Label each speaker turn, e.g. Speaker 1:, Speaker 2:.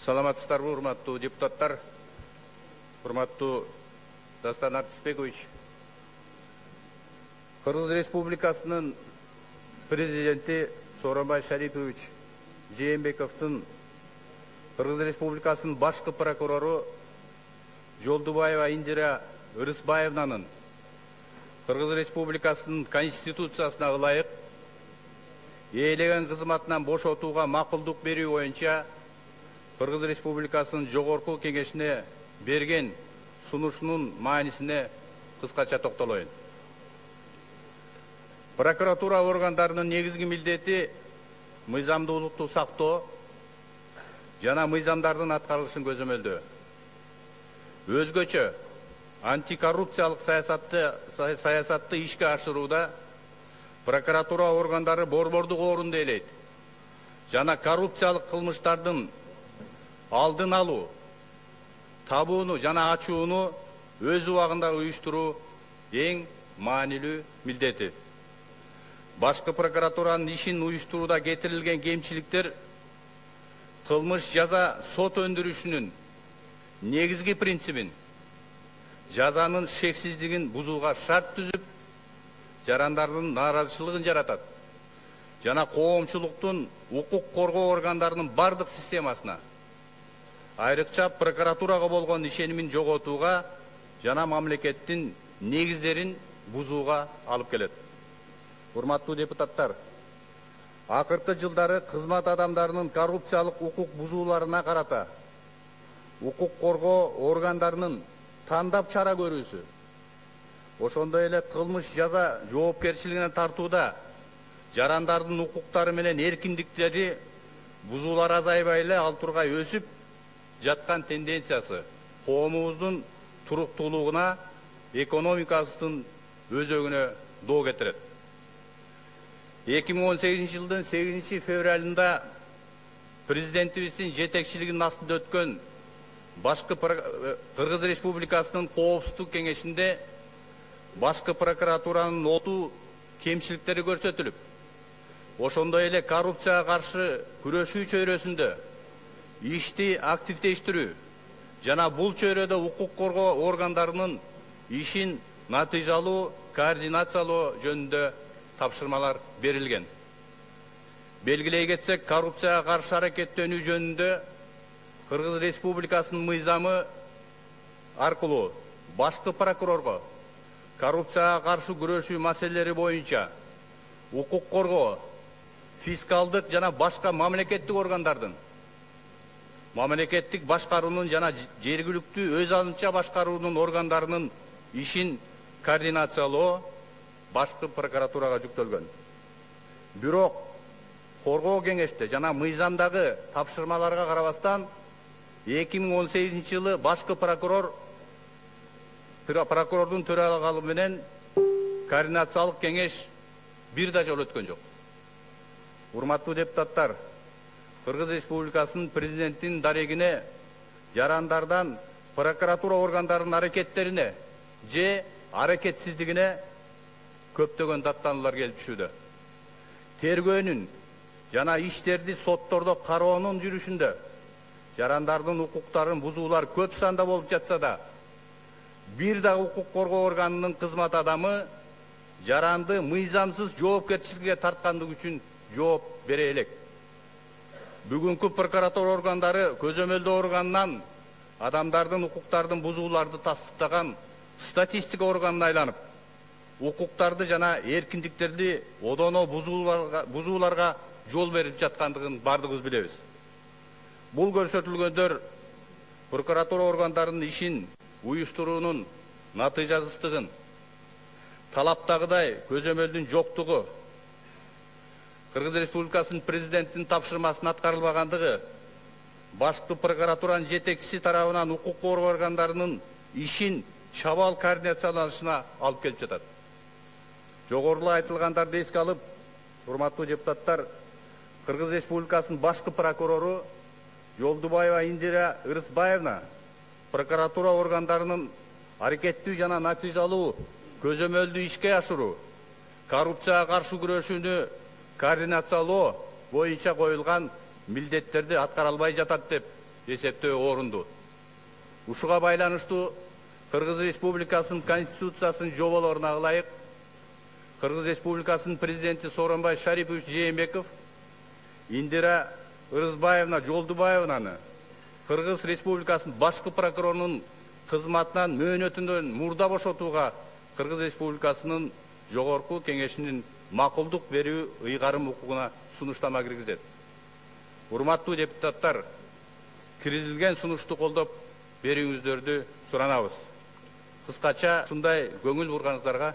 Speaker 1: Саламатсыздарбы, урматтуу депутаттар, урматтуу Дастан Артисбекович. Кыргыз Республикасынын президенти Сооронбай Шарипович Жээнбековдун Кыргыз Республикасынын башкы прокурору Жолдубаева Индира Ырысбаевнанын Кыргыз Республикасынын Конституциясына ылайык ээлеген кызматынан бошотууга макулдук берүү боюнча Кыргыз Республикасынын Жогорку Кеңешине берген сунушунун маанисине кыскача токтолоюн. Прокуратура органдарынын негизги милдети мыйзамдуулукту сактоо жана мыйзамдардын аткарылышын көзөмөлдөө. Өзгөчө антикоррупциялык саясатты ишке ашырууда прокуратура органдары борбордук орунду ээлейт жана коррупциялык кылмыштардын алдын алуу, табууну жана ачууну өз убагында уюштуруу эң маанилүү милдети. Башкы прокуратуранын ишин уюштурууда кетирилген кемчиликтер кылмыш жаза сот өндүрүшүнүн негизги принцибин, жазанын шексиздигин бузууга шарт түзүп, жарандардын нааразычылыгын жаратат жана коомчулуктун укук коргоо органдарынын бардык системасына, айрыкча прокуратурага болгон ишенимин жоготууга жана мамлекеттин негиздерин бузууга алып келет. Урматтуу депутаттар, акыркы жылдары кызмат адамдарынын коррупциялык укук бузууларына карата укук коргоо органдарынын тандап чара көрүүсү, ошондой эле кылмыш жаза жоопкерчилигине тартууда жарандардын укуктары менен эркиндиктери бузуулар азайбай эле ал тургай өсүп жаткан тенденциясы коомубуздун туруктуулугуна, экономикасынын өзөгүнө доо кетирет. 2018 жылдын 8 февралында президентибиздин жетекчилигинин астында өткөн башкы Кыргыз Республикасынын Коопсуздук кеңешинде башкы прокуратуранын оту кемчиликтери көрсөтүлүп, ошондой эле коррупцияга каршы күрөшүү чөйрөсүндө ишти активдештирүү жана бул чөйрөдө укук коргоо органдарынын ишин натыйжалуу координациялоо жөнүндө тапшырмалар берилген. Белгилей кетсек, коррупцияга каршы аракеттенүү жөнүндө Кыргыз Республикасынын мыйзамы аркылуу башкы прокурорго коррупцияга каршы күрөшүү маселелери боюнча укук коргоо, фискалдык жана башка мамлекеттик органдардын, мамлекеттик башкаруунун жана жергиликтүү өз алынча башкаруунун органдарынын ишин координациялоо башкы прокуратурага жүктөлгөн. Бирок коргоо кеңеште жана мыйзамдагы тапшырмаларга карабастан 2018 жылы башкы прокурордун төралыгы менен координациялык кеңеш бир да жолу өткөн жок. Урматтуу депутаттар, Кыргыз Республикасынын президентинин дарегине жарандардан прокуратура органдарынын аракеттерине же аракетсиздигине көптөгөн даттануулар келип түшүүдө. Тергөөнүн жана иштерди соттордо кароонун жүрүшүндө жарандардын укуктарын бузуулар көп санда болуп жатса да, бир да укук коргоо органынын кызмат адамы жаранды мыйзамсыз жоопкерчиликке тарткандыгы үчүн жооп бере элек. Бүгүнкү прокуратура органдары көзөмөлдөө органынан адамдардын укуктардын бузууларды тастыктаган статистика органына айланып, укуктарды жана эркиндиктерди одоно бузууларга жол берип жаткандыгын бардыгыбыз билебиз. Бул көрсөтүлгөндөр прокуратура органдарынын ишин уюштуруунун натыйжасыздыгын, талаптагыдай көзөмөлдүн жоктугу, Кыргыз Республикасынын президентинин тапшырмасынын аткарылбагандыгы, башкы прокуратуранын жетекчиси тарабынан укук коргоо органдарынын ишин чабал координацияланышына алып келип жатат. Жогоруда айтылгандарды эске алып, урматтуу депутаттар, Кыргыз Республикасынын башкы прокурору Жолдубаева Индира Ырысбаевна прокуратура органдарынын аракеттүү жана натыйжалуу көзөмөлдүү ишке ашыруу, коррупцияга каршы күрөшүүнү координациялоо боюнча коюлган милдеттерди аткара албай жатат деп эсептөө орунду. Ушуга байланыштуу Кыргыз Республикасынын Конституциясынын жоболоруна ылайык Кыргыз Республикасынын президенти Сооронбай Шарипович Жээнбеков Индира Ырызбаевна Жолдубаевнаны Кыргыз Республикасынын башкы прокурорунун кызматынан мөөнөтүндөн мурда бошотууга Кыргыз Республикасынын жогорку кеңешинин макулдук берүү ыйгарым укугуна сунуштама киргизет. Урматтуу депутаттар, киргизилген сунушту колдоп берүүңүздөрдү суранабыз. Кыскача ушундай көңүл бурганыңыздарга